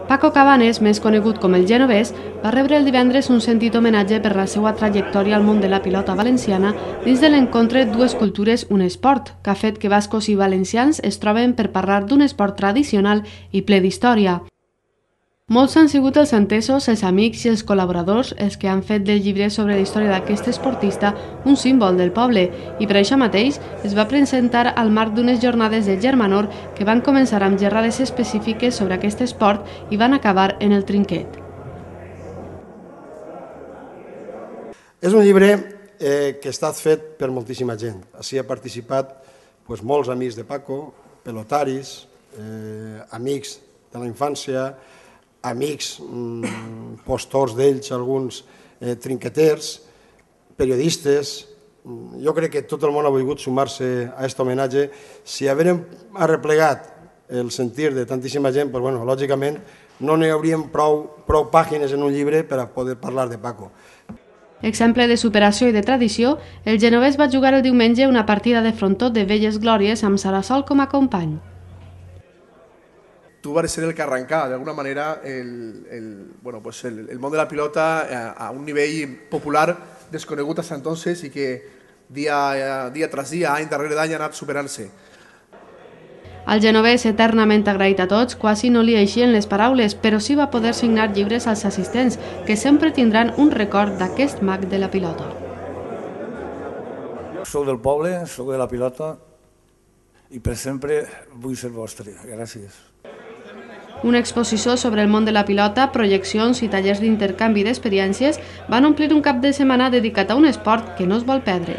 Paco Cabanes, més conegut com el Genovès, va rebre el divendres un sentit homenatge per la seva trajectòria al món de la pilota valenciana dins de l'encontre Dues cultures, un esport, que ha fet que bascos i valencians es troben per parlar d'un esport tradicional i ple d'història. Molts han sigut els entesos, els amics i els col·laboradors els que han fet del llibre sobre la història d'aquest esportista un símbol del poble i per això mateix es va presentar al marc d'unes jornades de Germanor que van començar amb xerrades específiques sobre aquest esport i van acabar en el trinquet. És un llibre que ha estat fet per moltíssima gent. Així ha participat molts amics de Paco, pelotaris, amics de la infància, amics, postors d'ells, alguns trinqueters, periodistes. Jo crec que tot el món ha volgut sumar-se a aquest homenatge. Si haguérem arreplegat el sentir de tantíssima gent, lògicament no n'hi hauríem prou pàgines en un llibre per a poder parlar de Paco. Exemple de superació i de tradició, el genovès va jugar el diumenge una partida de frontó de velles glòries amb Sarasol com a company. Tú vas a ser el que arranca, de alguna manera, el món de la pilota a un nivell popular desconegut hasta entonces i que dia tras dia, any darrere d'any, ha anat superant-se. El genovès, eternament agraït a tots, quasi no li eixien les paraules, però sí va poder signar llibres als assistents, que sempre tindran un record d'aquest mag de la pilota. Soc del poble, soc de la pilota i per sempre vull ser vostre. Gràcies. Una exposició sobre el món de la pilota, projeccions i tallers d'intercanvi d'experiències van omplir un cap de setmana dedicat a un esport que no es vol perdre.